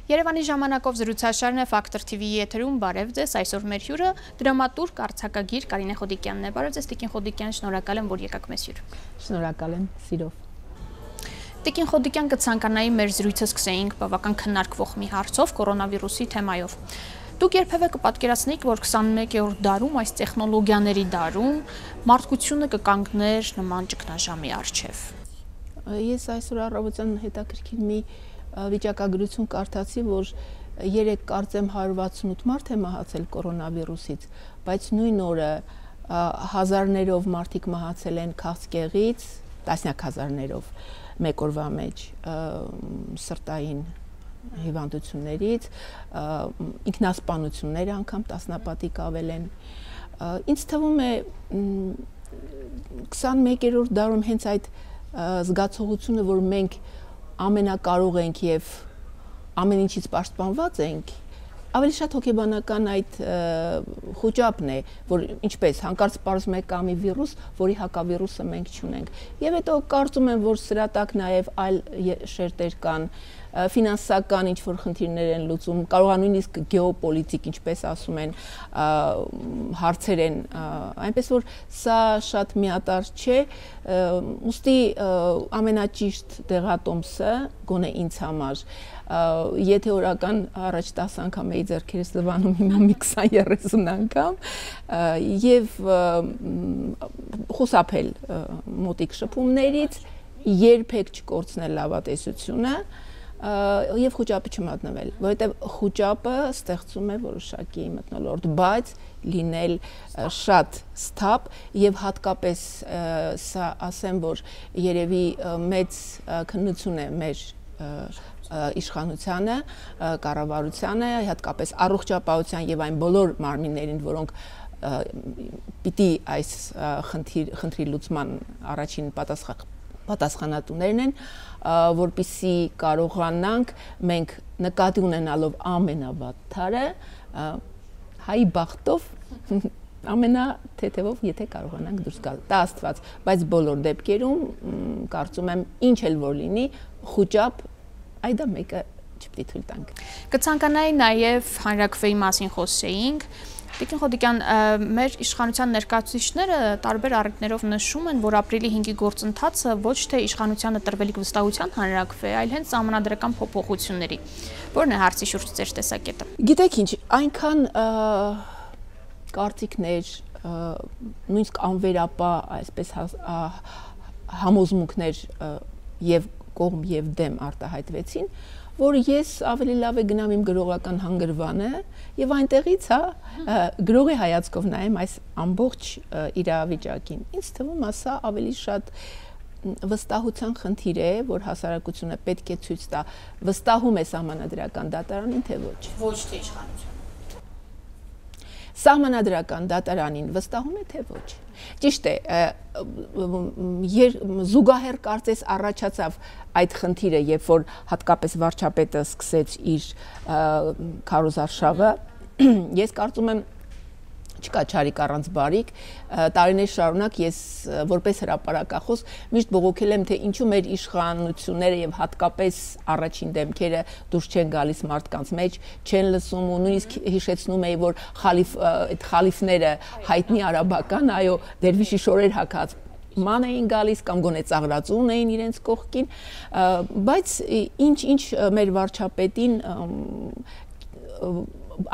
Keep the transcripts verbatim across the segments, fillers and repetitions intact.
Երևանի ժամանակով զրուցաշարն է Ֆակտոր Թի Վիի եթերում, բարև ձեզ, այսօր մեր հյուրը դրամատուրգ, արձակագիր Կարինե Խոդիկյանն է։ Բարև ձեզ, Տիկին Խոդիկյան, շնորհակալ եմ, որ եկաք մեզ հյուր։ Շնորհակալ եմ, սիրով։ Տիկին Խոդիկյան, կցանկանայի մեր զրույցը սկսեինք բավական քննարկվող մի հարցով, կորոնավիրուսի թեմայով։ Դուք երբևէ կպատկերացնեիք, որ քսանմեկերորդ դարում, այս տեխնոլոգիաների դարում, մարդկությունը կկանգներ նման ճգնաժամի առջև։ Ես այսօր առավոտյան հետաքրքիր մի վիճակագրություն կարդացի, որ երեք կարծեմ հարյուր վաթսունութ մարդ է մահացել կորոնավիրուսից, բայց նույն օրը հազարներով մարդիկ մահացել են քաղցկեղից, տասնյակ հազարներով մեկ օրվա մեջ սրտային հիվանդություններից, ինքնասպանությունները անգամ տասնապատիկ ավել են։ Ինձ թվում է քսանմեկերորդ դարում հենց այդ զգացողությունը, որ մենք ամենակարող ենք եւ ամեն ինչից պաշտպանված ենք, ավելի շատ հոգեբանական այդ խոճապն է, որ ինչպես հանկարծ պարզում է կա մի վիրուս, որի հակավիրուսը մենք չունենք։ Եվ հետո կարծում եմ, որ սրա տակ նաեւ այլ շերտեր կան, ֆինանսական ինչ-որ խնդիրներ են լուծում, կարող է նույնիսկ գեոպոլիտիկ, ինչպես ասում են, հարցեր են, այնպես որ սա շատ միատարր չէ, ուստի ամենաճիշտ դեղատոմսը, գոնե ինձ համար, եթե օրական առաջ տասը անգամ էի ձեռքերս լվանում, հիմա մի քսան երեսուն անգամ, եւ խուսափել մոտիկ շփումներից, երբեք չկորցնել լավատեսությունը եւ խոճապը չմատնվել, որովհետեւ խոճապը ստեղծում է որոշակի մթնոլորտ, բայց լինել շատ սթափ եւ հատկապես սա ասեմ, որ երևի մեծ քննություն է մեր իշխանությանը, կառավարությանը, հատկապես առողջապահության եւ այն բոլոր մարմիններին, որոնք պիտի այս խնդրի լուծման առաջին պատասխանատուներն են, որպեսզի կարողանանք մենք նկատի ունենալով ամենավատ թարը հայի բախտով ամենաթեթևով, եթե կարողանանք դուրս գալ, դա Աստված, բայց բոլոր դեպքերում կարծում եմ ինչ էլ որ լինի, խոճապ այդ դա մեկը չպետք է թույլ տանք։ Կցանկանայի նաև հանրաքվեի մասին խոսեինք։ Տիկին Խոդիկյան, մեր իշխանության ներկայացուցիչները տարբեր առիթներով նշում են, որ ապրիլի հինգի գործընթացը ոչ թե իշխանությանը տրվելիք վստահության հանրաքվե, այլ հենց սահմանադրական փոփոխությունների։ Որն է հարցի շուրջ ձեր տեսակետը։ Գիտեք ինչ, այնքան կարծիքներ, նույնիսկ անվերապահ, այսպես համոզմունքներ եւ կողմ եւ դեմ արտահայտվեցին, որ ես ավելի լավ է գնամ իմ գրողական հանգրվանը եւ այնտեղից հա գրողի հայացքով նայեմ այս ամբողջ իրավիճակին։ Ինձ թվում է սա ավելի շատ վստահության խնդիր է, որ հասարակությունը պետք է ցույց տա, վստահում է սահմանադրական դատարանին, թե ոչ։ Ոչ թե իշխանությունը։ Սահմանադրական դատարանին վստահում է, թե ոչ։ Ճիշտ է, զուգահեռ կարծես առաջացավ այդ խնդիրը, երբ որ հատկապես վարչապետը սկսեց իր քարոզարշավը, ես կարծում եմ չկա չարիք առանց բարիք, տարիներ շարունակ ես որպես հրապարակախոս միշտ բողոքել եմ, թե ինչու մեր իշխանությունները եւ հատկապես առաջին դեմքերը դուրս չեն գալիս մարդկանց մեջ, չեն լսում ու նույնիսկ հիշեցնում էի, որ խալիֆ այդ խալիֆները հայտնի արաբական, այո, դերվիշի շորեր հագած ման էին գալիս կամ գոնե ծաղրածուն էին իրենց կողքին, բայց ինչ-ինչ մեր վարչապետին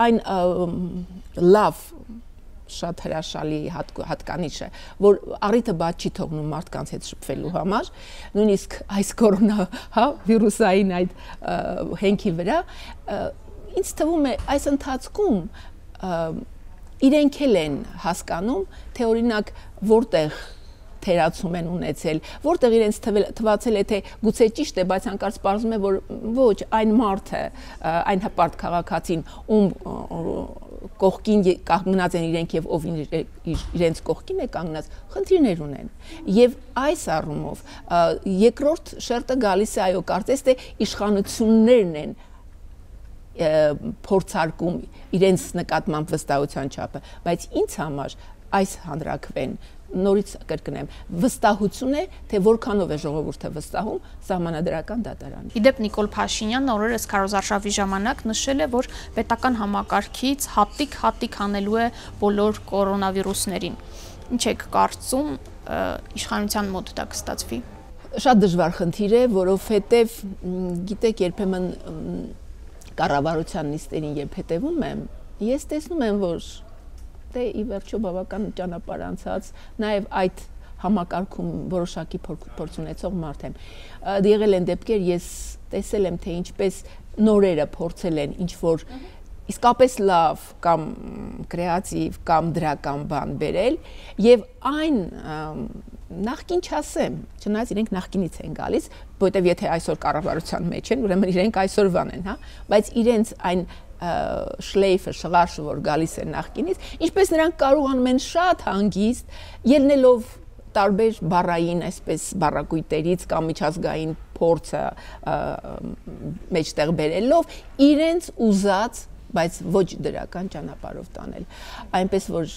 այն լավ շատ հրաշալի հատկանիշ է, որ առիթը բաց չի թողնում մարդկանց հետ շփվելու համար, նույնիսկ այս կորոնա, հա, վիրուսային այդ հենքի վրա, ինձ թվում է այս ընթացքում իրենք էլ են հասկանում, թե օրինակ որտեղ թերացում են ունեցել, որտեղ իրենց թվացել է, թե գուցե ճիշտ է, բայց հանկարծ պարզվում է, որ ոչ, այն մարդը, այն հպարտ քաղաքացին, ում կողքին կանգնած են իրենք եւ ով իրենց կողքին է կանգնած, խնդիրներ ունեն։ Եվ այս առումով երկրորդ շերտը գալիս է, այո, կարծես թե իշխանություններն են փորձարկում իրենց նկատմամբ վստահության չափը, բայց ինձ համար այս հանրաքվեն նորից կրկնեմ, վստահություն է, թե որքանով է ժողովուրդը վստահում սահմանադրական դատարանին։ Իդեպ Նիկոլ Փաշինյանն օրերս քարոզարշավի ժամանակ նշել է, որ պետական համակարգից հատիկ-հատիկ հանելու է բոլոր կորոնավիրուսներին։ Ինչ եք կարծում, իշխանության մոտ դա կստացվի։ Շատ դժվար խնդիր է, որովհետև գիտեք, երբեմն կառավարության նիստերին երբ հետևում եմ, ես տեսնում եմ, որ դե ի վերջո բավական ճանապարհ անցած, նաև այդ համակարգում որոշակի փորձ ունեցող մարդ եմ։ Եղել են դեպքեր, ես տեսել եմ, թե ինչպես նորերը փորձել են ինչ որ իսկապես լավ կամ կրեատիվ կամ դրական բան բերել եւ այն նախքին չասեմ, չնայած իրենք նախքինից են գալիս, որովհետեւ եթե այսօր կառավարության մեջ են, ուրեմն իրենք այսօրվան են, հա, բայց իրենց այն շլեյֆը, շղարշը, որ գալիս է նախկինից, ինչպես նրանք կարողանում են շատ հանգիստ ելնելով տարբեր բառային, այսպես բառակույտերից կամ միջազգային փորձը մեջտեղ բերելով իրենց ուզած, բայց ոչ դրական ճանապարհով տանել։ Այնպես որ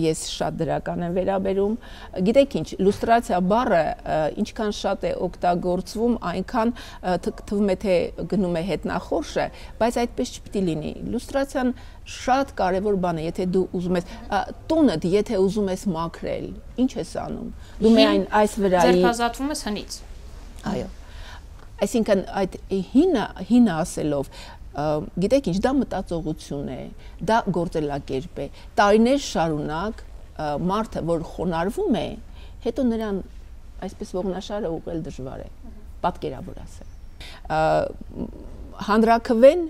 ես շատ դրական եմ վերաբերում։ Գիտեք ինչ, լուստրացիա բառը ինչքան շատ է օգտագործվում, այնքան թվում է թե գնում է հետնախորշը, բայց այդպես չպիտի լինի։ Լուստրացիան շատ կարևոր բան է, եթե դու ուզում ես տունդ, եթե ուզում ես մաքրել, ինչ ես անում։ Դու միայն այս վրայի ձերբազատվում ես հնից։ Այո։ Այսինքն այդ հինը, հինը ասելով գիտեք ինչ, դա մտածողություն է, դա գործելակերպ է։ Տարիներ շարունակ մարդը, որ խոնարհվում է, հետո նրան այսպես ողնաշարը ուղղել դժվար է, պատկերավոր ասեմ։ Հանրաքվեն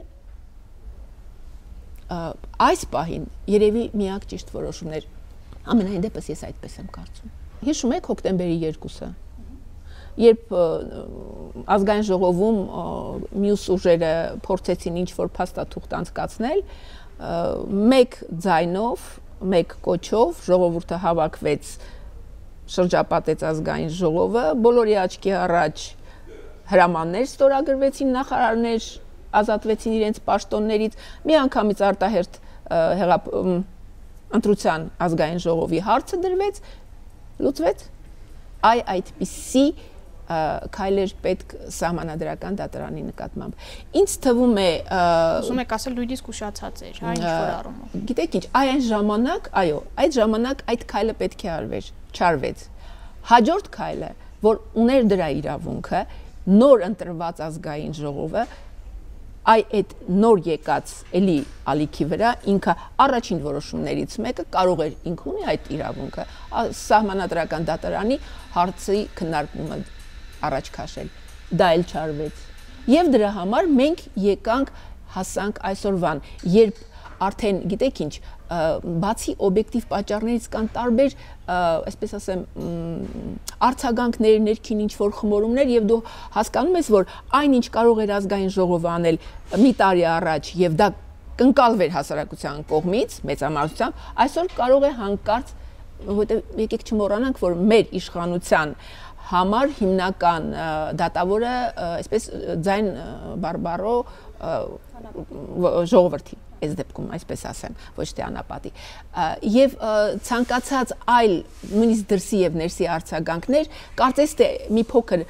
այս պահին երևի միակ ճիշտ որոշումն էր, ամենայն դեպս ես այդպես եմ կարծում։ Հիշում եք հոկտեմբերի երկուսը, երբ ազգային ժողովում մյուս ուժերը փորձեցին ինչ-որ փաստաթուղթ անցկացնել, մեկ ձայնով, մեկ կոչով ժողովուրդը հավաքվեց, շրջապատեց ազգային ժողովը, բոլորի աչքի առաջ հրամաններ ստորագրվեցին, նախարարներ ազատվեցին իրենց պաշտոններից, միանգամից արտահերթ ընտրության ազգային ժողովի հարցը դրվեց, լուծվեց, այ այդպիսի քայլեր պետք սահմանադրական դատարանի նկատմամբ։ Ինձ թվում է ուզում եք ասել նույնիսկ ուշացած էր, հա, ինչ որ առումով։ Գիտեք ինչ, այն ժամանակ, այո, այդ ժամանակ այդ քայլը պետք է արվեր, չարվեց։ Հաջորդ քայլը, որ ուներ դրա իրավունքը, նոր ընտրված ազգային ժողովը, այ այդ նոր եկած էլի ալիքի վրա ինքը առաջին որոշումներից մեկը կարող էր ինքը ունի այդ իրավունքը սահմանադրական դատարանի հարցի քննարկումը առաջ քաշել, դա էլ չարվեց։ Եվ դրա համար մենք եկանք հասանք այսօրվան, երբ արդեն գիտեք ինչ, բացի օբյեկտիվ պատճառներից կան տարբեր, այսպես ասեմ, արձագանքներ, ներքին ինչ-որ խմորումներ եւ դու հասկանում ես, որ այնինչ կարող էր ազգային ժողովը անել մի տարի առաջ եւ դա կընկալվեր հասարակության կողմից, մեծամասնությամբ, այսօր կարող է հանկարծ, որովհետեւ եկեք չմոռանանք, որ մեր իշխանության համար հիմնական դատավորը, այսպես ձայն բարբարո ժողովրդի, այս դեպքում այսպես ասեմ, ոչ թե անապատի։ Եվ ցանկացած այլ նույնիսկ դրսի եւ ներսի արձագանքներ, կարծես թե մի փոքր,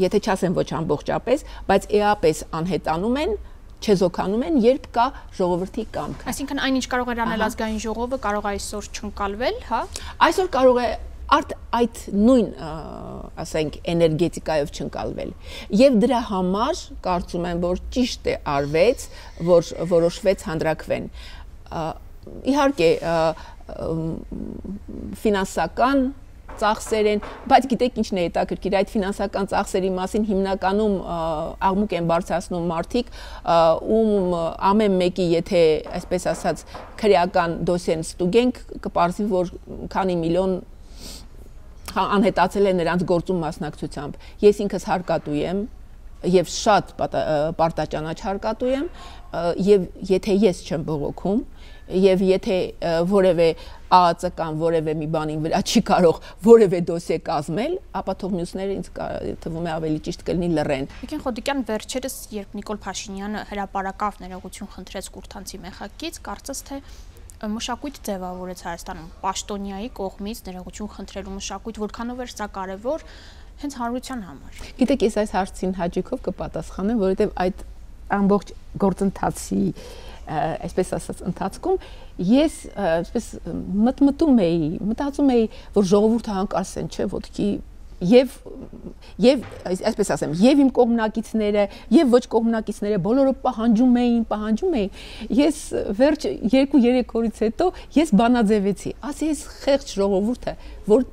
եթե չասեմ ոչ ամբողջապես, բայց էապես անհետանում են, չեզոքանում են, երբ կա ժողովրդի կամք։ Այսինքն այնինչ կարող էր անել ազգային ժողովը, կարող է այսօր չընկալվել, հա։ Այսօր կարող է Արդ այդ նույն, ասենք, էներգետիկայով չընկալվել։ Եվ դրա համար կարծում եմ, որ ճիշտ է արվեց, որ որոշվեց հանրաքվեն։ Իհարկե, ֆինանսական ծախսեր են, բայց գիտեք ինչն է հետաքրքիր, այդ ֆինանսական ծախսերի մասին հիմնականում աղմուկ են բարձրացնում մարդիկ, ում ամեն մեկի, եթե այսպես ասած, քրեական դոսիեն ստուգենք, կպարզվի, որ քանի միլիոն անհետացել է նրանց գործում մասնակցությամբ։ Ես ինքս հարկատու եմ եւ շատ պարտաճանաչ հարկատու եմ եւ եթե ես չեմ բողոքում եւ եթե որևէ ԱԱԾ կամ որևէ մի բանի վրա չի կարող որևէ դոսիե կազմել, ապա թող մյուսները ինձ թվում է ավելի ճիշտ կլինի լռեն։ Տիկին Խոդիկյան, վերջերս երբ Նիկոլ Փաշինյանը հրապարակավ ներողություն խնդրեց Կուրթանցի մեխակից, կարծես թե մշակույթ ձևավորեց Հայաստանում պաշտոնյայի կողմից ներողություն խնդրելու մշակույթ, որքանով էր սա կարևոր հենց հանրության համար։ Գիտեք, ես այս հարցին հաջողով կպատասխանեմ, որովհետև այդ ամբողջ գործընթացի, այսպես ասած, ընթացքում ես այսպես մտմտում էի, մտածում էի, որ ժողովուրդը հանկարծեն չէ ոտքի Եվ եւ այսպես ասեմ, եւ իմ կողմնակիցները, եւ ոչ կողմնակիցները բոլորը պահանջում էին, պահանջում էին։ Ես վերջ երկու երեք օրից հետո ես բանաձևեցի։ Ասի ես խեղճ ժողովուրդը, որ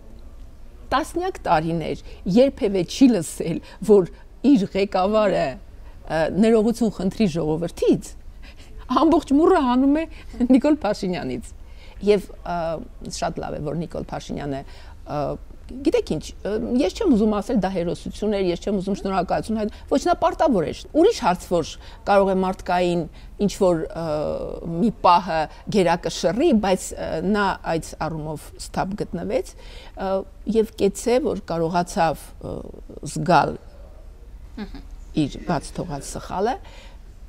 տասնյակ տարիներ երբևէ չի լսել, որ իր ղեկավարը ներողություն խնդրի ժողովրդից, ամբողջ մուրը հանում է Նիկոլ Փաշինյանից։ Եվ շատ լավ է, որ Նիկոլ Փաշինյանը Գիտեք ինչ, ես չեմ ուզում ասել դա հերոսություն էր, ես չեմ ուզում շնորհակալություն հայտնել, ոչ նա պարտավոր էր։ Ուրիշ հարց, որ կարող է մարդկային ինչ որ մի պահը գերակշռի, բայց նա այդ առումով ստապ գտնվեց եւ կեցե, որ կարողացավ զգալ իր բաց թողած սխալը։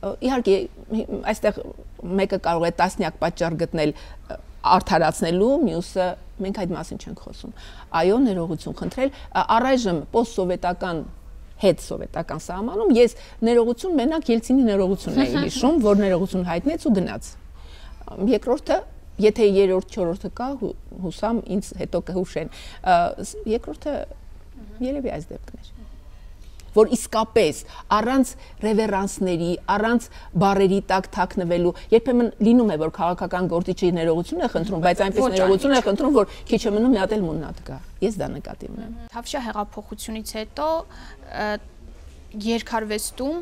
Իհարկե, այստեղ մեկը կարող է տասնյակ պատճառ գտնել արդարացնելու, մյուսը մենք այդ մասին չենք խոսում։ Այո, ներողություն խնդրել, առայժմ պոստսովետական հետ-սովետական սահմանում ես ներողություն մենակ Ելցինի ներողությունն էի հիշում, որ ներողություն հայտնեց ու գնաց։ Երկրորդը, եթե երրորդ, չորրորդը կա, հուսամ ինձ հետո կհուշեն։ Երկրորդը երևի այս դեպքն էր, որ իսկապես առանց ռևերանսների, առանց բարերի տակ թաքնվելու, երբեմն լինում է, որ քաղաքական գործիչի ներողություն է խնդրում, բայց այնպես ներողություն է խնդրում, որ քիչ է մնում մի հատ էլ մուննատ գա։ Ես դա նկատի ունեմ։ Թավշյա հեղափոխությունից հետո երկարվեստում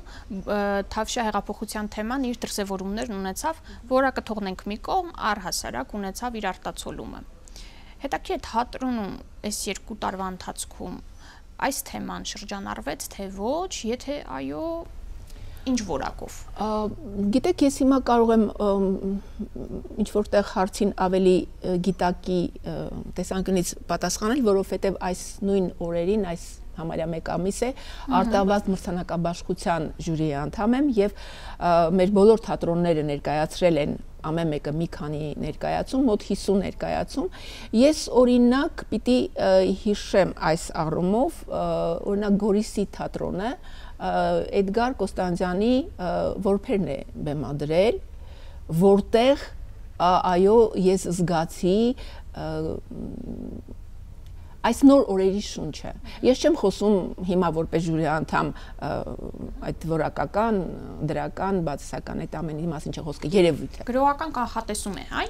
Թավշյա հեղափոխության թեման իր դրսևորումներն ունեցավ, որակը թողնենք մի կողմ, առհասարակ ունեցավ իր արտացոլումը։ Հետաքրքիր է թատրոնում այս երկու տարվա ընթացքում այս թեման շրջանառվեց, թե ոչ, եթե այո, ինչ որակով։ Գիտեք, ես հիմա կարող եմ ինչ որտեղ հարցին ավելի գիտակի տեսանկյունից պատասխանել, որովհետև այս նույն օրերին, այս համարյա մեկ ամիս է, Արտավազդ մրցանակաբաշխության ժյուրիի անդամ եմ եւ մեր բոլոր թատրոնները ներկայացրել են ամեն մեկը մի քանի ներկայացում, մոտ հիսուն ներկայացում։ Ես օրինակ պիտի հիշեմ այս առումով, օրինակ Գորիսի թատրոնը Էդգար Կոստանդյանի որբերն է բեմադրել, որտեղ այո, ես զգացի այս նոր օրերի շունչը։ Ես չեմ խոսում հիմա որպես ժյուրի անդամ այդ որակական, դրական, բացասական այդ ամենի մասին չի խոսքը, երևույթը։ Գրողական կանխատեսում է, հա,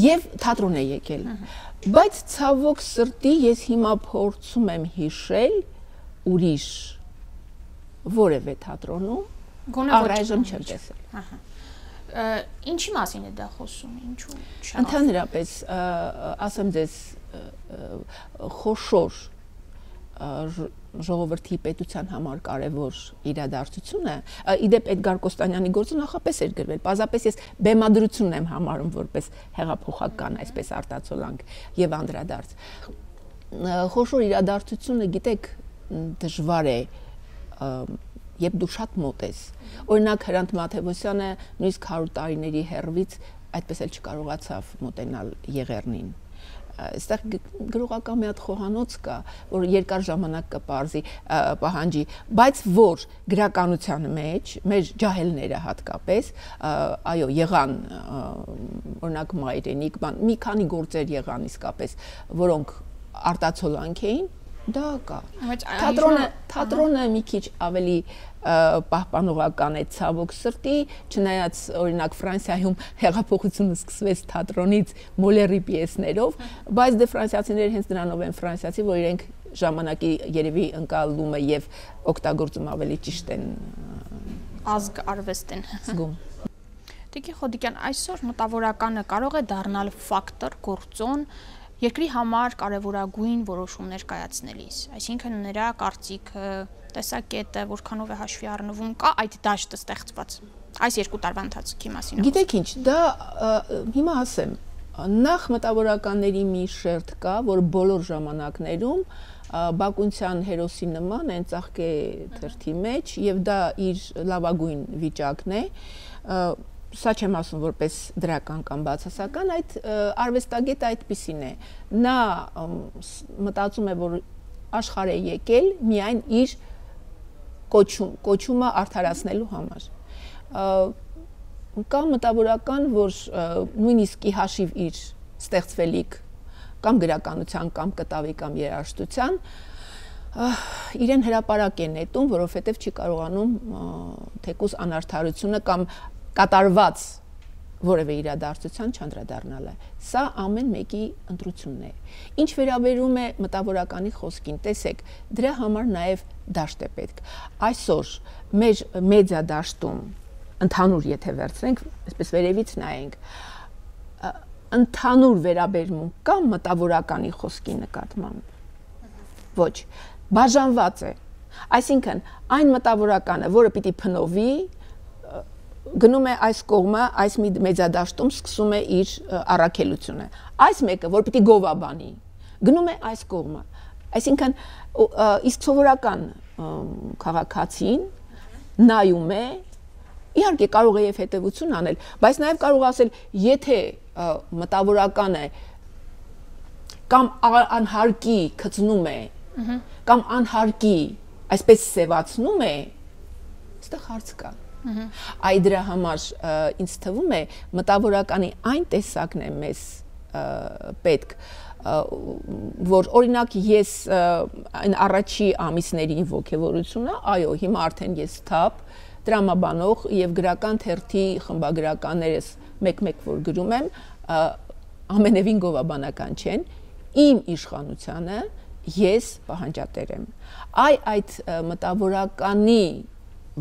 եւ թատրոն է եկել։ Բայց ցավոք սրտի ես հիմա փորձում եմ հիշել ուրիշ որևէ թատրոնում, առայժմ չեմ տեսել։ Ինչի մասին է դա խոսում, ինչու՞ չէ։ Ընդհանրապես, ասեմ ձեզ, խոշոր ժողովրդի պետության համար կարևոր իրադարձությունը, իդեպ Էդգար Կոստանյանի գործը նախապես էր գրվել, պարզապես ես բեմադրությունն եմ համարում որպես հեղափոխական, այսպես արտացոլանք եւ անդրադարձ։ Խոշոր իրադարձությունը, գիտեք, դժվար է, երբ դու շատ մոտ ես։ Օրինակ Հրանտ Մաթևոսյանը նույնիսկ հարյուր տարիների հեռվից այդպես էլ չկարողացավ մոտենալ Եղեռնին։ Այստեղ գրողական մի հատ խոհանոց կա, որ երկար ժամանակ կպարզի, պահանջի, բայց որ գրականության մեջ, մեր ջահելները հատկապես, այո, եղան, օրինակ Մայրենիք, մի քանի գործեր եղան իսկապես, որոնք արտացոլանք էին, դա կա։ Թատրոնը, թատրոնը մի քիչ ավելի պահպանողական է ցավոք սրտի, չնայած օրինակ Ֆրանսիայում հեղափոխությունը սկսվեց թատրոնից Մոլերի պիեսներով, բայց դե ֆրանսիացիները հենց դրանով են ֆրանսիացի, որ իրենք ժամանակի երևի ընկալումը եւ օգտագործում ավելի ճիշտ են ազգ արվեստ են զգում։ Տիկին Խոդիկյան, այսօր մտավորականը կարող է դառնալ ֆակտոր, գործոն երկրի համար կարևորագույն որոշումներ կայացնելիս, այսինքն նրա կարծիքը, տեսակետը, որքանով է հաշվի առնվում, կա այդ դաշտը ստեղծված այս երկու տարվա ընթացքի մասին։ Գիտեք ինչ, դա հիմա ասեմ, նախ մտավորականների մի շերտ կա, որ բոլոր ժամանակներում Բակունցյան հերոսի նման են ծաղկե թերթի մեջ եւ դա իր լավագույն վիճակն է։ սա չեմ ասում որպես դրական կամ բացասական, այդ արվեստագետը այդպիսին է։ Նա մտածում է, որ աշխարհ է եկել միայն իր կոչում, կոչումը արդարացնելու համար։ Կա մտավորական, որ նույնիսկ ի հաշիվ իր ստեղծվելիք կամ գրականության, կամ կտավի, կամ երաժշտության, իրեն հրապարակ է նետում, որովհետև չի կարողանում թեկուզ անարդարությունը կամ կատարված որևէ իրադարձության չանդրադառնալ է։ Սա ամեն մեկի ընտրությունն է։ Ինչ վերաբերում է մտավորականի խոսքին, տեսեք, դրա համար նաև դաշտ է պետք։ Այսօր մեր մեդիա դաշտում ընդհանուր եթե վերցնենք, այսպես վերևից նայենք, ընդհանուր վերաբերմունք կա մտավորականի խոսքի նկատմամբ։ Ոչ, բաժանված է։ Այսինքն, այն մտավորականը, որը պիտի փնովի, գնում է այս կողմը, այս մեծադաշտում սկսում է իր առաքելությունը։ Այս մեկը, որ պիտի գովաբանի, գնում է այս կողմը։ Այսինքն, իսկ սովորական քաղաքացին նայում է, իհարկե կարող է եւ հետեւություն անել, բայց նաեւ կարող ասել, եթե մտավորականը կամ անհարկի գծնում է, կամ անհարկի այսպես սևացնում է, այստեղ հարց կա։ Այ դրա համար ինձ թվում է մտավորականի այն տեսակն է մեզ պետք, որ օրինակ ես այն առաջի ամիսների ոգևորությունը, այո, հիմա արդեն ես թափ դրամաբանող եւ գրական թերթի խմբագրականներս մեկ-մեկ որ գրում եմ, ամենևին գովաբանական չեն, իմ իշխանությանը ես պահանջատեր եմ։ Այ այդ մտավորականի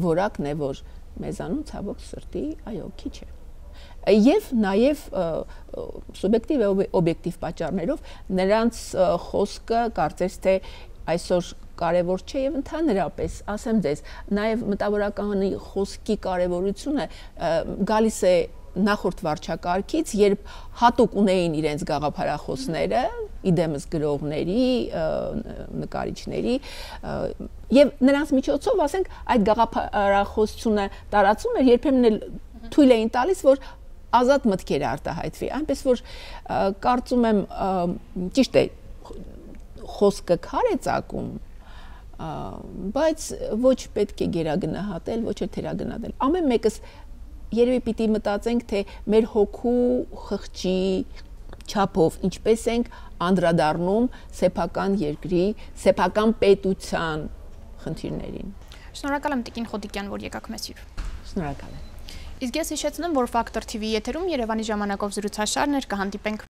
որակն է, որ մեզանում ցավոք սրտի, այո, քիչ է։ Եվ նաև սուբյեկտիվ եւ օբյեկտիվ պատճառներով նրանց խոսքը կարծես թե այսօր կարևոր չէ եւ ընդհանրապես ասեմ ձեզ, նաև մտավորականի խոսքի կարևորությունը գալիս է նախորդ վարչակարգից, երբ հատուկ ունեին իրենց գաղափարախոսները, իդեմս գրողների, նկարիչների, եւ նրանց միջոցով, ասենք, այդ գաղափարախոսությունը տարածում էր, երբեմն էլ թույլ էին տալիս, որ ազատ մտքեր արտահայտվի, այնպես որ կարծում եմ ճիշտ է, խոսքը քար է ծակում, բայց ոչ պետք է գերագնահատել, ոչ էլ թերագնահատել։ Ամեն մեկս երևի պիտի մտածենք, թե մեր հոգու խղճի չափով ինչպես ենք անդրադառնում սեփական երկրի, սեփական պետության խնդիրներին։ Շնորհակալ եմ Տիկին Խոդիկյան, որ եկաք մեզ հյուր։ Շնորհակալ եմ։ Իսկ ես հիշեցնեմ, որ Factor T V եթերում Երևանի ժամանակով զրուցաշարներ կհանդիպենք